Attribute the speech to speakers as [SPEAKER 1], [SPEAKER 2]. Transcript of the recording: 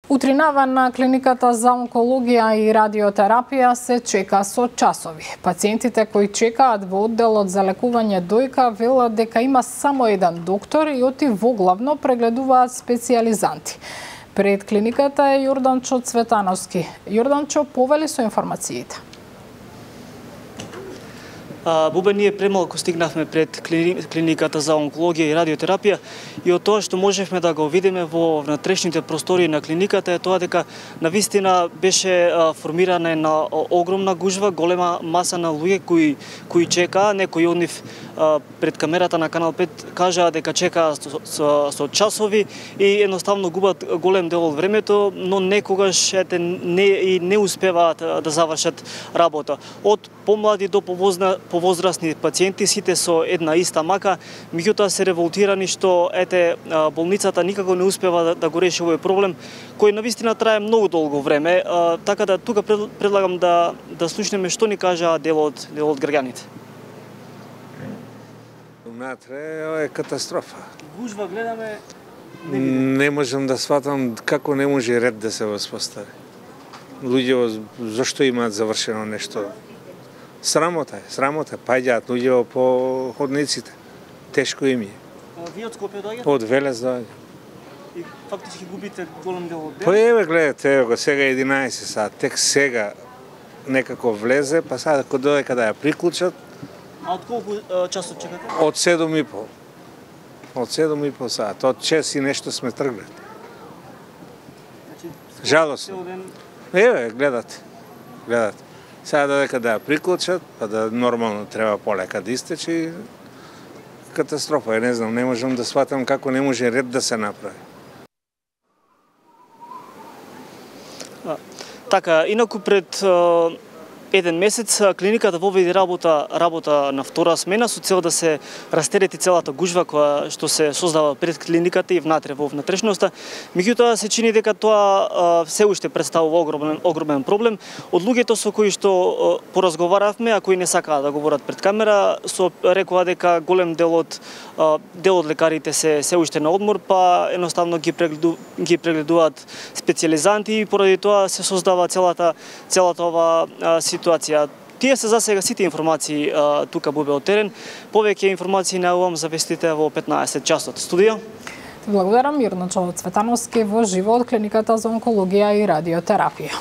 [SPEAKER 1] Утринава на клиниката за онкологија и радиотерапија се чека со часови. Пациентите кои чекаат во одделот за лекување дојка велат дека има само еден доктор и оти воглавно прегледуваат специјализанти. Пред клиниката е Јорданчо Цветановски. Јорданчо, повели со информациите.
[SPEAKER 2] Бубе, ние премалку стигнавме пред клиниката за онкологија и радиотерапија и од тоа што можевме да го видиме во внатрешните простори на клиниката е тоа дека навистина беше формирана една огромна гужва, голема маса на луѓе кои чекаа, некои од нив пред камерата на Канал 5 кажаа дека чекаат со часови и едноставно губат голем дел од времето, но некогаш не успеваат да завршат работа. Од помлади до повозрастни пациенти, сите со една иста мака, меѓутоа се револтирани што болницата никако не успева да го реши овој проблем, кој навистина трае многу долго време, така да тука предлагам да слушнеме што ни кажа дел од граѓаните.
[SPEAKER 3] Внатре е катастрофа.
[SPEAKER 2] Гужва гледаме,
[SPEAKER 3] не можам да сватам како не може ред да се воспостави. Луѓе зашто имаат завршено нешто? Срамота е, паѓаат луѓе по ходниците. Тешко им е.
[SPEAKER 2] Вие од Скопје доаѓате?
[SPEAKER 3] Од Велес доаѓам.
[SPEAKER 2] И фактички губите голем дел од ден?
[SPEAKER 3] Па еве гледате, еве го сега 11 сат, тек сега некако влезе, па сега кога додека да ја приклучат.
[SPEAKER 2] А од колку часот чекате?
[SPEAKER 3] Од 7:30. Од 7:30 сат, од 6 и нешто сме тргнати. Жалосно. Еве, гледате. Сега додека да ја приклучат, па да нормално треба полека да истече, катастрофа е, не знам, не можам да сватам како не може ред да се направи.
[SPEAKER 2] Така, инаку пред еден месец клиниката воведе работа на втора смена со цел да се растерети целата гужва која што се создава пред клиниката и внатре во внатрешноста. Меѓутоа се чини дека тоа се уште представува огромен проблем. Од луѓето со кои што поразговаравме, а кои не сакаат да говорат пред камера, рекоа дека голем дел од лекарите се уште на одмор, па едноставно ги прегледуваат специјализанти и поради тоа се создава целата ова ситуација. Тие се за сега сите информации тука Бубе од терен. Повеќе информации најавувам за вестите во 15 часот. Студио.
[SPEAKER 1] Благодарам, Јорданчо Цветановски во живо од клиниката за онкологија и радиотерапија.